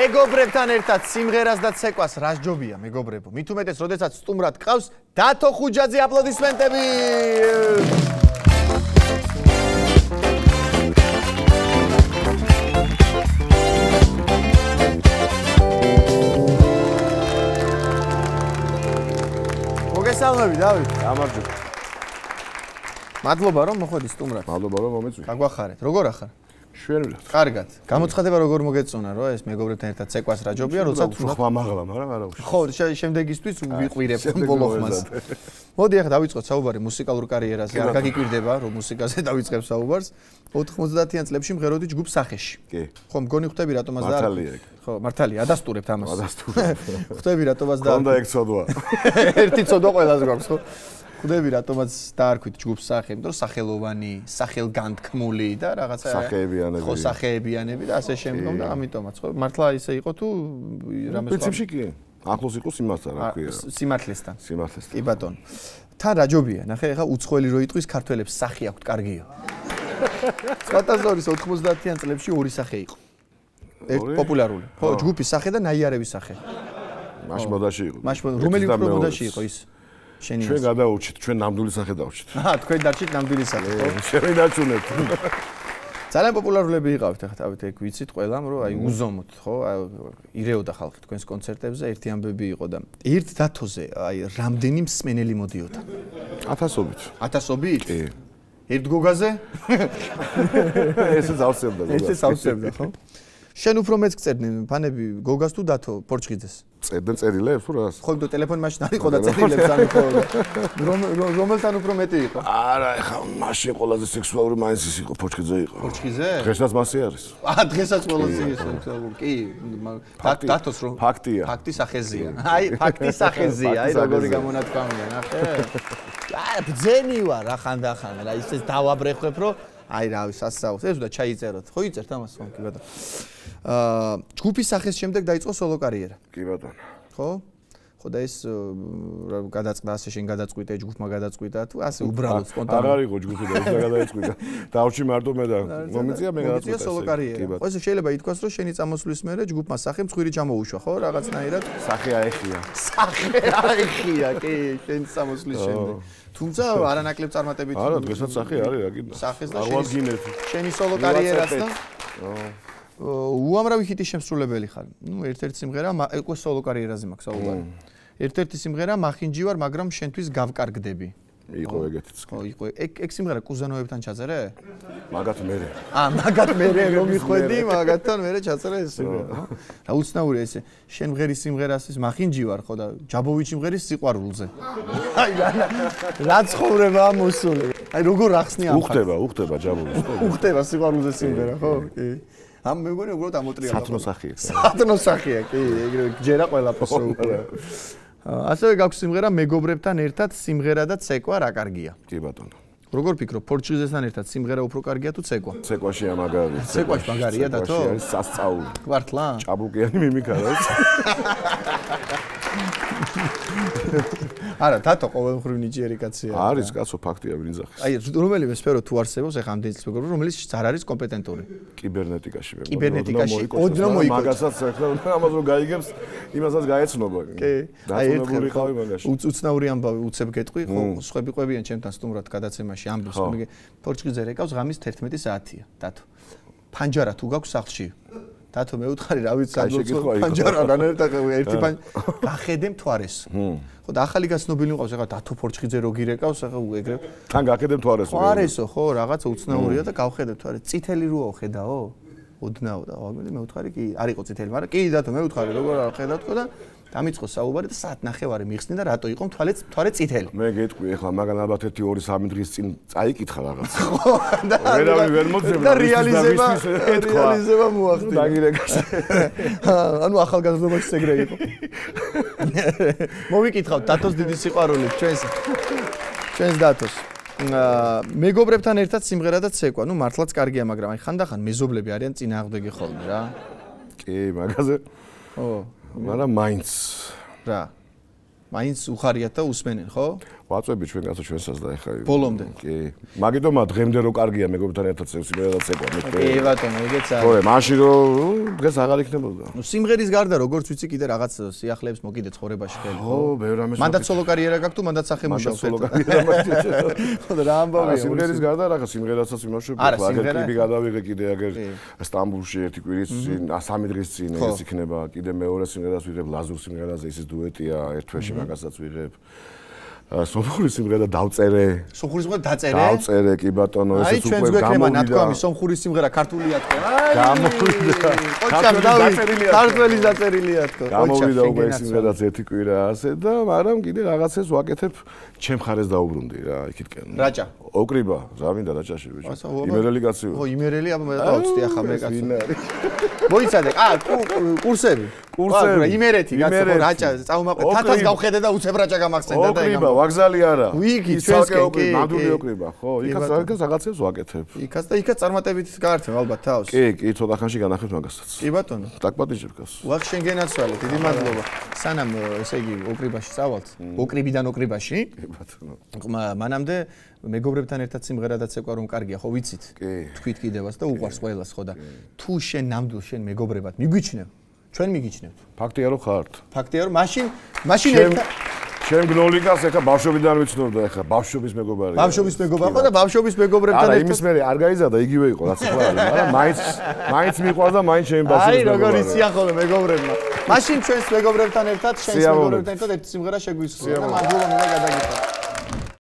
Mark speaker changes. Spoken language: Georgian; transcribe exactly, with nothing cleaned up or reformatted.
Speaker 1: მეგობრებთან ერთად სიმღერას და ცეკვას რა ჯობია მეგობრებო მით უმეტეს როდესაც სტუმრად ყავს დათო ხუჯაძე აპლოდისმენტები მოგესალმები დავით
Speaker 2: გამარჯობა
Speaker 1: მადლობა რომ მოხვედი სტუმრად
Speaker 2: მადლობა რომ მომეწვი
Speaker 1: გაგვახარეთ როგორ ახარ
Speaker 2: შვენურად.
Speaker 1: კარგად. გამოცხადება როგორ მოგეწონა, რომ ეს მეგობრებთან ერთად ცეკვას რა ჯობია, როცა
Speaker 2: თუ ხმა მაღლა, მაგრამ არა უშ.
Speaker 1: ხო, შემდეგისთვის ვიყვირებ ბოლო ხმას. მოდი ახლა დავიწყოთ საუბარი მუსიკალურ კარიერაზე. არ გაგიკვირდება, რომ მუსიკაზე დავიწყებ საუბარს. ოთხმოცდაათიან წლებში მღეროდი ჯგუფ სახეში.
Speaker 2: კი.
Speaker 1: ხო, მგონი ხვდები რატომაც და
Speaker 2: მართალია.
Speaker 1: ხო, მართალია, ადასტურებთ ამას.
Speaker 2: ადასტურებ.
Speaker 1: ხვდები რატომაც და
Speaker 2: კონდა ეგ ცოდვა.
Speaker 1: ერთი ცოდვა ყველას გვაქვს, ხო? ხვდები რატომაც დაარქვით ჯგუფს სახე, იმიტომ რომ სახელოვანი, სახელგანთქმული და რაღაცა
Speaker 2: სახეებიანები.
Speaker 1: ხო, სახეებიანები და ასე შემდგომ და ამიტომაც ხო მართლა ისე იყო თუ რამე სხვა
Speaker 2: პრინციპში კი. ახლოს იყო სიმართლე რა ქვია.
Speaker 1: სიმართლესთან.
Speaker 2: სიმართლესთან.
Speaker 1: კი ბატონო. თან რა ჯობია, ნახე ახლა უცხოელი რო იტყვის ქართველებს სახი აქვთ კარგიო. სპატაზორის ოთხმოცდაათიან წლებში ორი სახე იყო. ერთ პოპულარული. ხო, ჯგუფის სახე და ნაიარების სახე.
Speaker 2: მაშ მოდაში იყო.
Speaker 1: მაშ რომელი უფრო მოდაში იყო ის? შენი
Speaker 2: ჩვენ გადაურჩით, ჩვენ ნამდვილი სახე დავურჩით.
Speaker 1: აჰა, თქვენ დარჩით ნამდვილი სახე, ხო?
Speaker 2: შენ დარჩუნებთ.
Speaker 1: ძალიან პოპულარულები იყავით ახლა თავით ეგ ვიცით ყველამ რომ აი უზომოთ, ხო? ირეოდა ხალხი თქვენს კონცერტებზე, ერთი ამბები იყო და ერთ დათოზე აი რამდენი მსმენელი მოდიოდა?
Speaker 2: ათასობით.
Speaker 1: ათასობით?
Speaker 2: კი.
Speaker 1: ერთ გოგაზე?
Speaker 2: ესე zawსებდა გოგას.
Speaker 1: ესე zawსებდა, ხო? შენ უფრო მეც გწერდნენ ფანები გოგას თუ დათო პორჩხიძეს?
Speaker 2: წერდნენ წერილებს თუ რას?
Speaker 1: ხო, იმიტომ ტელეფონი მაშინ არ იყო და წერილებს არ იყო. რომელთან უფრო მეტი იყო?
Speaker 2: არა, ეხა მაშინ ყველაზე სექსუალური მაინც ის იყო, პორჩხიძე იყო.
Speaker 1: პორჩხიძე?
Speaker 2: დღესაც მასე არის.
Speaker 1: აა, დღესაც ყველაზე სექსუალური. კი, დათოს რომ
Speaker 2: ფაქტია.
Speaker 1: ფაქტი სახეზია. აი, ფაქტი სახეზია, აი როგორი გამონათქვამია, ნახე. აი, ბძენი ვარ, რა ხანდახან, რა ისე დავაბრეხებ, რომ აი რავი, სასწაულს. ეს უნდა ჩაიწეროთ. ხო იწერთ ამას ხო, კი ბატონო. აა, ჯგუფის სახეს შემდეგ დაიწყო სოლო კარიერა.
Speaker 2: კი ბატონო.
Speaker 1: ხო? ხო და ეს გადაწყდა ასე შენ გადაწყვიტე ჯგუფმა გადაწყვიტა თუ ასე უბრალოდ სპონტანურად.
Speaker 2: აღარ იყო ჯგუფი და ის გადაიწყვიტა. დავჭი მარტო მე და მომიწია მე გადაწყვიტა.
Speaker 1: მომიწია სოლო კარიერა. ხო ესე შეიძლება ითქვას რომ შენი წამოსვლის მერე ჯგუფმა სახე მსხვილი ჩამოუშვა, ხო? რაღაცნაირად
Speaker 2: სახე აეხია.
Speaker 1: სახე აეხია, კი, შენი წამოსვლის შემდეგ. თუმცა არანაკლებ წარმატებით.
Speaker 2: არა, დღესაც სახე არის, რა კიდე.
Speaker 1: სახეს და
Speaker 2: შენი
Speaker 1: შენი სოლო კარიერაც და უამრავი ჰიტის შემსრულებელი ხარ. ნუ ერთ-ერთი სიმღერა უკვე სოლო კარიერაზე მაქვს საუბარი. ერთ-ერთი სიმღერა მახინჯი ვარ, მაგრამ შენთვის გავკარგდები.
Speaker 2: იყო ეგეთიც.
Speaker 1: ხო, იყო. ეგ ეგ სიმღერა კუზანოებთან ჩაწერე?
Speaker 2: მაგათ მერე.
Speaker 1: აა, მაგათ მერე რომ მიხვედი, მაგათთან მერე ჩაწერე ეს სიმღერა, ხო? რა უცნაურია ესე. შენ მღერის სიმღერას ის მახინჯი ვარ, ხო და ჯაბოვიჩი მღერის სიყვარულზე. აი, რა ცხოვრება მოსული. აი, როგორ ახსნია ამ
Speaker 2: უხდება, უხდება ჯაბოვის.
Speaker 1: უხდება სიყვარულზე სიმღერა, ხო? კი. ამ მეგონი უბრალოდ ამოტრიალდა.
Speaker 2: სათნო სახია.
Speaker 1: სათნო სახია, კი, ეგრევე ჯერა ყველაფერს უკვე. ასევე გაქვს სიმღერა მეგობრებთან ერთად სიმღერა და ცეკვა რა კარგია.
Speaker 2: კი ბატონო.
Speaker 1: როგორ ფიქრობ, პორჩხიზესთან ერთად სიმღერა უფრო კარგია თუ ცეკვა?
Speaker 2: ცეკვაშია მაგარია.
Speaker 1: ცეკვაში მაგარია დათო?
Speaker 2: ცეკვაში არის სასწაული.
Speaker 1: გვართლა?
Speaker 2: ჭაბუკიანი მიმიქა რა.
Speaker 1: არა, დათო ყოველმხრივ ნიჭიერი კაცია.
Speaker 2: არის კაცო, ფაქტია ვინძახის.
Speaker 1: აი, რომელიმე სფერო თუ არსებობს, ეხა ამდენი წლის მეგობრობა, რომელიც არ არის კომპეტენტური.
Speaker 2: კიბერნეტიკაში მე.
Speaker 1: კიბერნეტიკაში ოდნავ მოიგო.
Speaker 2: მაგასაც საერთოდ ამას რომ გაიგებს, იმასაც გაეცნობა.
Speaker 1: კი. აი, ერთხელ
Speaker 2: ხავი მაგაში.
Speaker 1: უცნაური ამბავი უცებ გეტყვი, ხო, სხვები ყვებიან ჩემთან სტუმრად გადაცემაში ამბობს, მე პორჩხიძე რეკავს ღამის თერთმეტი საათია, დათო. ფანჯარა თუ გაქვს სახლში? დათო მე უთხარი რა ვიცი პანჯარა რანერტა ერთი პანჯარა გახედე მთვარეს ხო და ახალი გაცნობილი მყავს ახლა დათო პორჩხიძე რო გირეკავს ახლა ეგრე
Speaker 2: თან გახედე მთვარეს
Speaker 1: მთვარესო ხო რაღაცა უცნაურია და გავხედე მთვარე წითელი როა ხედაო ოდნავ და მე უთხარი კი არ იყო წითელი მაგრამ კი დათო მე უთხარი როგორ არ ხედავ თქო და დამიწყო საუბარი და საათ ნახევარი მიხსნი და რატო იყო მთვარე მთვარე წითელი
Speaker 2: მე გეტყვი ახლა მაგან ალბათ ერთი ორი სამი დღის წინ წაიკითხა რაღაც
Speaker 1: ხო და
Speaker 2: ვერავინ ვერ მოძებნა
Speaker 1: და რეალიზება რეალიზება მოახდინა
Speaker 2: დაგირეკას
Speaker 1: ანუ ახალგაზრდობაში ეგრე იყო მოვიკითხავ დათოს დიდი სიყვარული ჩვენს ჩვენს დათოს მეგობრებთან ერთად სიმღერა და ცეკვა ნუ მართლაც კარგია მაგრამ აი ხანდახან მეზობლები არიან წინააღმდეგი ხოლმე რა
Speaker 2: კი მაგაზე
Speaker 1: ო
Speaker 2: მაგრამ მაინც
Speaker 1: რა მაინც უხარიათ და უსმენენ ხო?
Speaker 2: ვაწვევი ჩვენ კაცო ჩვენსაც და ეხა
Speaker 1: ბოლომდე.
Speaker 2: კი. მაგიტომა დღემდე რო კარგია მეგობრებთან ერთად სიმღერა ცეკვა მე.
Speaker 1: კი ბატონო, ეგეც არის.
Speaker 2: ხო, მაშინ რომ დღეს აღარ იქნებოდა.
Speaker 1: ნუ სიმღერის გარდა როგორც ვიცი კიდე რაღაც სიახლეებს მოგიდე ცხოვრებაში ხელი.
Speaker 2: ხო, ბევრ ამას.
Speaker 1: მანდაც სოლო კარიერა გაქვს თუ მანდაც სახელმუშაო
Speaker 2: სოლო კარიერა მაქვს.
Speaker 1: ხო და რა ამბავია
Speaker 2: სიმღერის გარდა რაღაც სიმღერასაც იმუშავებ, აგერ კლიპი გადავიღე კიდე აგერ სტამბულში ერთი კვირის წინ, სამი დღის წინ ეს იქნება, კიდე მეორე სიმღერას ვიღებ ლაზურ სიმღერაზე, ისიც დუეტია, ერთ თვეში მაგასაც ვიღებ. სომხური სიმღერა დავწერე.
Speaker 1: სომხური სიმღერა დაწერე?
Speaker 2: დავწერე, კი ბატონო, ესეც უკვე
Speaker 1: გამოვიდა. აი, ჩვენს გვექნება ნათქვამი, სომხური სიმღერა ქართულია თქო. აი,
Speaker 2: გამოვიდა.
Speaker 1: ოჩამ დავწერილია. ქართველი დაწერილია თქო.
Speaker 2: გამოვიდა უკვე სიმღერაც ერთი კვირა ასე და მაგრამ კიდე რაღაცას ვაკეთებ, ჩემ ხარეს დაუბრუნდი რა, იქითკენ.
Speaker 1: რაჭა.
Speaker 2: ოკრიბა, რა მინდა რაჭაში ბიჭო. იმერელი კაცი ვარ.
Speaker 1: ო, იმერელი, აბა მე დავწდი ახლა მე კაცი. ვინ არის? მოიცადე, ა, კურსები. კურსები. იმერეთი, კაცო, რაჭა, წაუმაყე, თათას გავხედე და უცებ რაჭა გამახსენდა და
Speaker 2: ოკრიბა, ვაგზალი არა.
Speaker 1: ვიგი, ჩვენსკენ კი.
Speaker 2: ნამდვილი ოკრიბა, ხო? იქაც რაღაც რაღაცებს ვაკეთებ.
Speaker 1: იქაც და იქაც წარმატებით გაართებ ალბათ თავს.
Speaker 2: კი, კი, ცოტა ხანში განახებ მაგასაც.
Speaker 1: კი ბატონო.
Speaker 2: დაკპატიჟებ გას.
Speaker 1: ვახ შენ გენაცვალე, დიდი მადლობა. სანამ ესე იგი ოკრიბაში წავალთ, ოკრიბიდან ოკრიბაში.
Speaker 2: კი ბატონო.
Speaker 1: მანამდე მეგობრებთან ერთად სიმღერა დაცეკვა რომ კარგია, ხო ვიცით?
Speaker 2: კი.
Speaker 1: თქვით კიდევაც და უყვარს ყველას, ხო და თუ შენ ნამდვილ შენ მეგობრებად მიგვიჩნევ, ჩვენ მიგიჩნევთ.
Speaker 2: ფაქტია რომ ხართ.
Speaker 1: ფაქტია რომ მაშინ მაშინ ერთად
Speaker 2: შენ გნოლიკას ეხა ბავშვობიდან ვიცნობ და ეხა ბავშვობის მეგობარია.
Speaker 1: ბავშვობის მეგობარი ხო და ბავშვობის მეგობრებთან ერთად.
Speaker 2: არა, იმის მე არ გაიზარდა, იგივე იყო რაც ახლა არის, მაგრამ მაინც მაინც მიყვარს და მაინც შენ ბავშვობის მეგობარია.
Speaker 1: აი, როგორ იციან ხოლმე მეგობრებმა. მაშინ ჩვენს მეგობრებთან ერთად, შენს მეგობრებთან ერთად ერთი სიმღერა შეგვისწრია და მადლობა მინდა გადაგიხადო.